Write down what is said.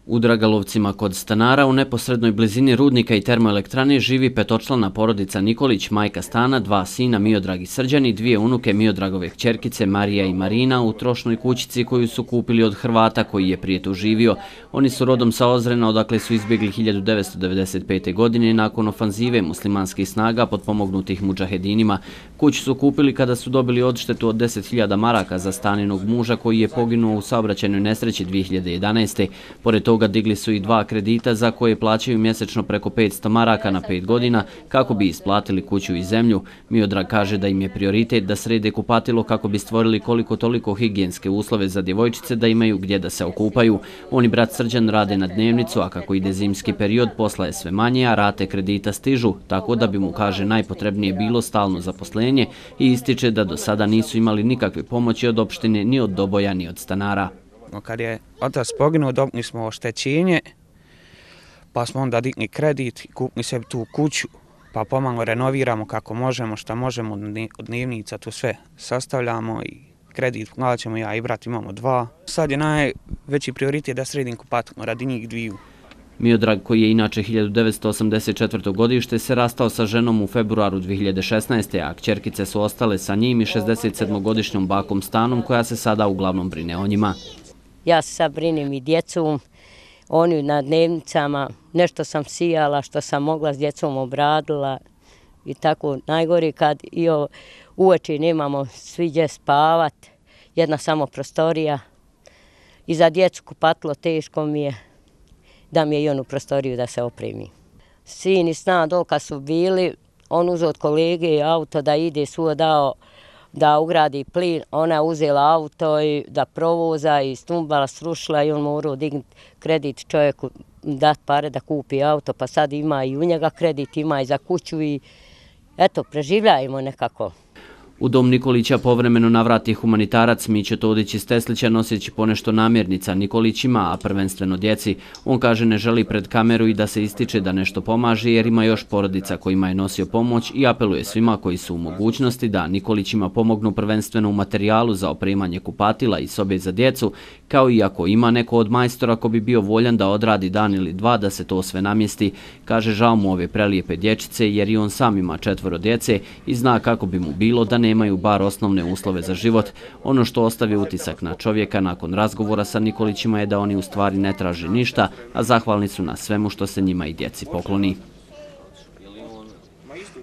U Dragalovcima kod stanara u neposrednoj blizini rudnika i termoelektrane živi petočlana porodica Nikolić, majka stana, 2 sina Miodrag i Srđan i 2 unuke Miodragove kćerkice Marija i Marina u trošnoj kućici koju su kupili od Hrvata koji je prije tu živio. Oni su rodom sa Ozrena, odakle su izbjegli 1995. godine nakon ofanzive muslimanskih snaga potpomognutih mudžahedinima. Kuću su kupili kada su dobili odštetu od 10.000 maraka za staninog muža koji je poginuo u saobraćajnoj nesreći 2011. Pored toga digli su i 2 kredita za koje plaćaju mjesečno preko 500 maraka na 5 godina kako bi isplatili kuću i zemlju. Miodrag kaže da im je prioritet da srede kupatilo kako bi stvorili koliko toliko higijenske uslove za djevojčice da imaju gdje da se okupaju. On i brat Srđan rade na dnevnicu, a kako ide zimski period posla je sve manje, a rate kredita stižu, tako da bi mu, kaže, najpotrebnije bilo stalno zaposlenje i ističe da do sada nisu imali nikakve pomoći od opštine, ni od Doboja, ni od stanara. Kad je otac poginuo, dobili smo oštećenje, pa smo onda digli kredit i kupili sebi tu kuću, pa pomalo renoviramo kako možemo, šta možemo, od dnevnica tu sve sastavljamo i kredit plaćamo, ja i brat imamo 2. Sad je najveći prioritet da sredim kupatilo radi njih 2. Miodrag, koji je inače 1984. godište, se rastao sa ženom u februaru 2016. a kćerkice su ostale sa njim i 67-godišnjom bakom Stanom koja se sada uglavnom brine o njima. Ja se sad brinem i djecom, oni na dnevnicama, nešto sam sijala što sam mogla s djecom obradila i tako najgore kad i uveče nemamo svi gdje spavat, jedna samo prostorija i za djecu kupatilo teško mi je da mi je i onu prostoriju da se opremi. Sin i sna dolka su bili, on uzeo od kolege auto da ide dao da ugradi plin, ona je uzela auto i da provoza i stumbala srušila i on morao dignuti kredit čovjeku, dati pare da kupi auto, pa sad ima i u njega kredit, ima i za kuću i eto, preživljajmo nekako. U dom Nikolića povremeno navrati humanitarac Mićo Todić iz Teslića noseći ponešto namirnica Nikolićima, a prvenstveno djeci. On kaže ne želi pred kameru i da se ističe da nešto pomaže jer ima još porodica kojima je nosio pomoć i apeluje svima koji su u mogućnosti da Nikolićima pomognu prvenstveno u materijalu za opremanje kupatila i sobe za djecu, kao i ako ima neko od majstora ko bi bio voljan da odradi dan ili 2 da se to sve namjesti. Kaže žao mu ove prelijepe dječice jer i on sam ima 4 djece i zna kako bi mu bilo da nemaju bar osnovne uslove za život. Ono što ostavi utisak na čovjeka nakon razgovora sa Nikolićima je da oni u stvari ne traže ništa, a zahvalni su na svemu što se njima i djeci pokloni.